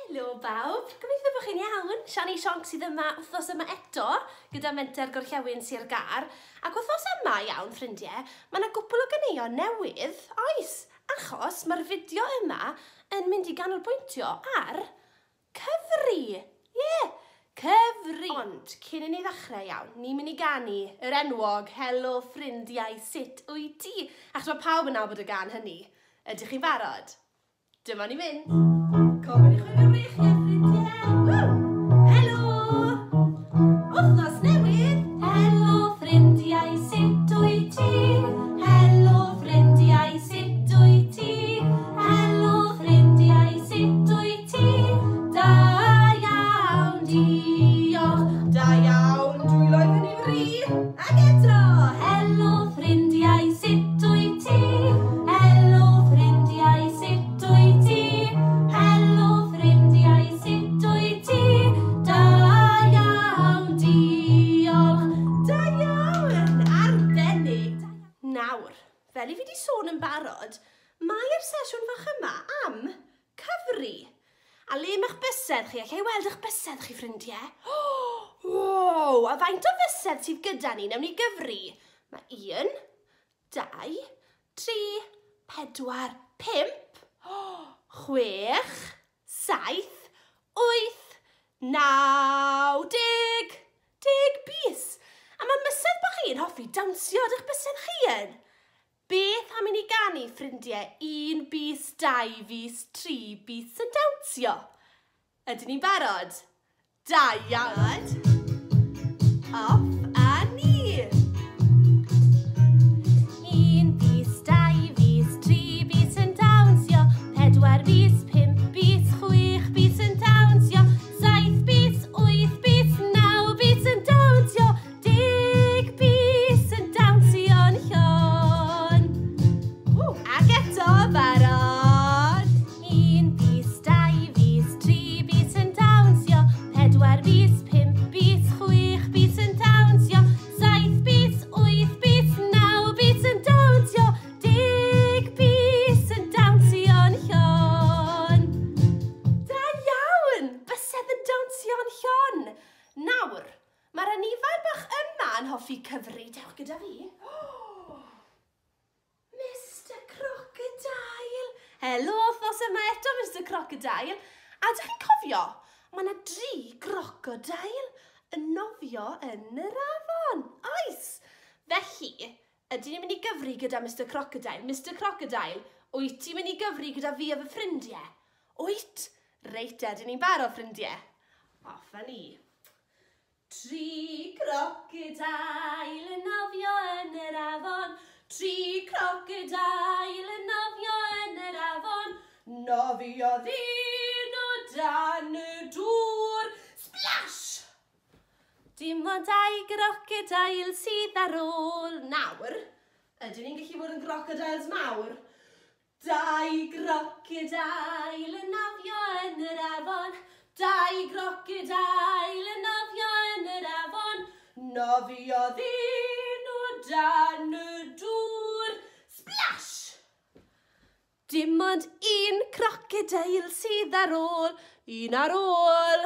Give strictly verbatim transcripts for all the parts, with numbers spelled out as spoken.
Helo bawb, gobeithio bod chi'n iawn. Siani Sionc sydd yma wythnos yma eto gyda Menter Gorllewin Sir Gâr. Ac wythnos yma iawn, ffrindiau, mae yna gwpl o ganeuon newydd, oes, achos mae'r fideo yma yn mynd i ganolbwyntio ar cyfri. Ie, yeah, cyfri. Ond cyn i ni ddechrau iawn, ni'n mynd i ganu yr enwog Helo ffrindiau, sut wyt ti? Achos mae pawb yn nabod y gân hynny. Ydych chi'n barod? Dyma ni'n mynd. Cofyn i chwilio breichiau, ffrindiau. Woo! Helo! Wythnos newydd! Helo ffrindiau, sut wyt ti? Helo ffrindiau, sut wyt ti? Helo ffrindiau, sut wyt ti? Da iawn, diolch. Da iawn, dwylo i fyny fri. Ac eto! Helo ffrindiau, sut wyt ti? Helo ffrindiau, sut wyt ti? Helo ffrindiau, sut wyt ti? Da iawn, diolch. Da iawn! Arbennig! Nawr, fel i fi wedi sôn yn barod, mae'r sesiwn fach yma am cyfri. A le mae'ch bysedd chi? Alla i weld eich bysedd chi, ffrindiau? Wow! A faint o fysedd sydd gyda ni? Nawn ni gyfri. Mae un, dau, tri, pedwar, pump, chwech, saith, wyth, naw, deg. Deg bys. A mae mysedd bach chi'n hoffi dawnsio, ydych bysedd chi yn? Beth am i ni ganu, ffrindiau, un bys, dau fys, tri bys yn dawnsio? Ydyn ni'n barod? Da iawn! Off a ni! Un bys, dau fys, tri bys yn dawnsio, pedwar bys, pump bys, chwech bys yn dawnsio, saith bys, wyth bys, naw bys yn dawnsio, deg bys yn dawnsio'n llon. Ww, ac eto, barod! Un bys, dau fys, tri bys yn dawnsio, pedwar bys, pump bys, chwech bys yn dawnsio, saith bys, wyth bys, naw bys yn dawnsio, deg bys yn dawnsio'n llon. Da iawn! Bysedd yn dawnsio'n llon. Nawr, mae'r anifail bach yma yn hoffi cyfri. Dewch gyda fi. Mister Crocodile! Helo, wythnos yma eto, Mister Crocodile. A ydych chi'n cofio, mae yna dri crocodile yn nofio yn yr afon. Oes! Felly, ydyn ni'n mynd i gyfri gyda Mister Crocodile? Mister Crocodile, wyt ti'n mynd i gyfri gyda fi a fy ffrindiau? Wyt? Reit, ydyn ni'n barod, ffrindiau. Off â ni. Tri crocodile yn nofio yn yr afon, tri crocodile yn nofio yn yr afon, Nofiodd un o dan y dŵr. Splash! Dim ond dau crocodile sydd ar ôl. Nawr, ydyn ni'n gallu bod yn crocodiles mawr? Dau Crocodile yn nofio yn yr afon, dau crocodile yn nofio yn yr afon, Nofiodd un o dan y dŵr. Splash! Dim ond un crocodile sydd ar ôl, un ar ôl.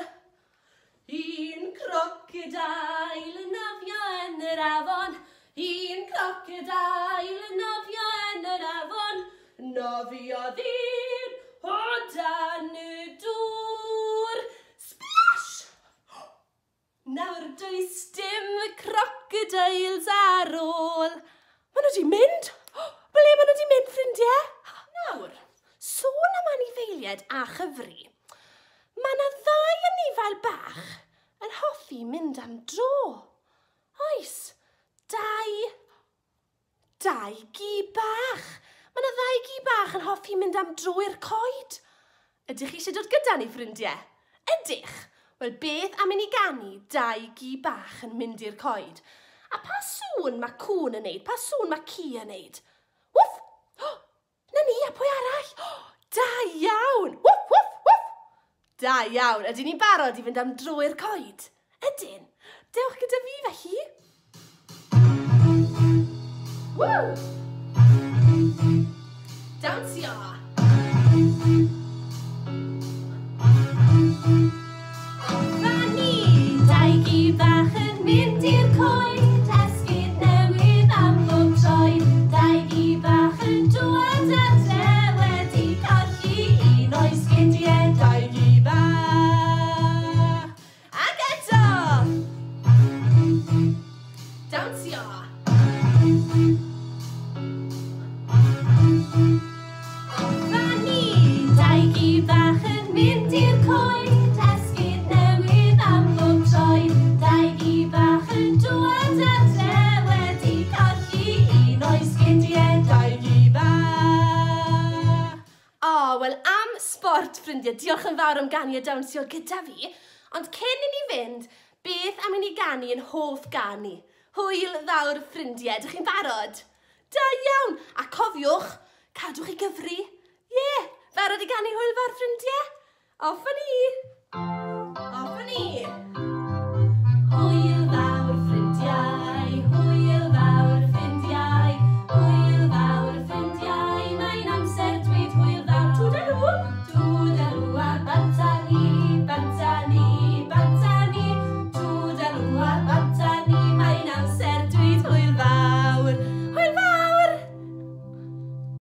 Un Crocodile yn nofio yn yr afon, un crocodile yn nofio yn yr afon, Nofiodd un o dan y dŵr. Splash! Nawr does dim crocodiles ar ôl. Maen nhw wedi mynd! Ble maen nhw wedi mynd, ffrindiau? Nawr, sôn am anifeiliaid a chyfri. Mae yna ddau anifail bach yn hoffi mynd am dro. Oes, dau, dau gi bach. Mae yna ddau gi bach yn hoffi mynd am dro i'r coed. Ydych chi eisiau dod gyda ni, ffrindiau? Ydych? Wel, beth am i ni ganu dau gi bach yn mynd i'r coed? A pa sŵn mae cŵn yn neud? Pa sŵn mae ci yn neud? Wff! Oh, na ni, a pwy arall? Oh, da iawn! Wff, wff, wff! Da iawn, ydyn ni'n barod i fynd am dro i'r coed? Ydyn. Dewch gyda fi felly. Woo! Dawnsio! dŵad adre wedi colli un o'i sgidiau. Dau gi bach. Ac eto. Dawnsio. Fanny! Dau gi bach yn mynd i'r coed, esgid newydd am bob troed. Dau gi bach yn dŵad adre wedi colli un o'i sgidiau. Dau gi bach. O, wel am sbort, ffrindiau, diolch yn fawr am ganu a dawnsio gyda fi. Ond cyn i ni fynd, beth am i ni ganu yn hoff ganu? Hwyl fawr, ffrindiau, ydych chi'n barod? Da iawn! A cofiwch, cadwch i gyfri. Ie, yeah, barod i ganu hwyl fawr, ffrindiau? Off â ni!